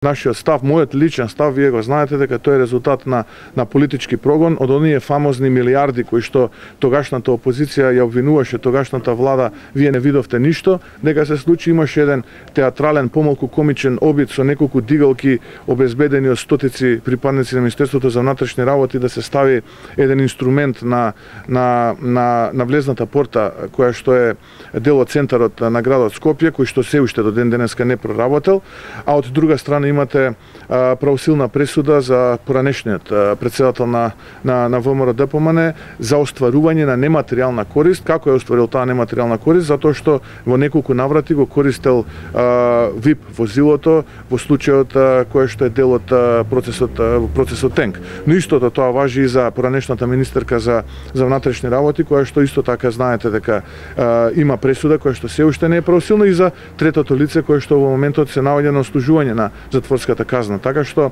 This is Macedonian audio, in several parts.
Нашиот став, мојот личен став, вие го знаете дека тој е резултат на политички прогон од оние фамозни милиарди кои што тогашната опозиција ја обвинуваше тогашната влада, вие не видовте ништо, дека се случи, имаше еден театрален, помалку комичен обид со неколку дигалки обезбедени од стотици припадници на Министерството за внатрешни работи да се стави еден инструмент на влезната порта која што е дел од центарот на градот Скопје, кој што се уште до ден денеска не проработел, а од друга страна имате правосилна пресуда за поранешниот претседател на ВМРО-ДПМН за остварување на нематеријална корист. Како е остварил таа нематеријална корист? Затоа што во неколку наврати го користел ВИП возилото во случајот кој што е дел од процесот Тенк. Но истото тоа важи и за поранешната министерка за внатрешни работи, која што исто така знаете дека има пресуда која што се уште не е правосилна, и за третото лице кое што во моментот се наоѓа на ослужување на затворската казна. Така што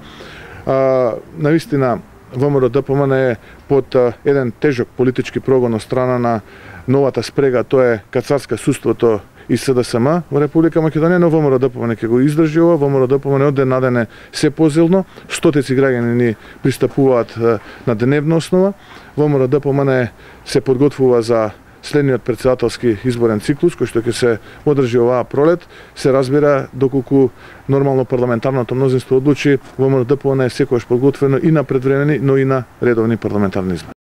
навистина ВМРО-ДПМН е под еден тежок политички прогон од страна на новата спрега, тоа е кацарска судството и СДСМ во Република Македонија, но ВМРО-ДПМН ќе го издржи ова. ВМРО-ДПМН од ден на ден е се позилно, стотици граѓани ни пристапуваат на дневна основа. ВМРО-ДПМН се подготвува за следниот претседателски изборен циклус кој што ќе се одржи оваа пролет. Се разбира доколку нормално парламентарното мнозинство одлучи, ВМРО-ДПМН е секогаш подготвено и на предвремени, но и на редовни парламентарни избори.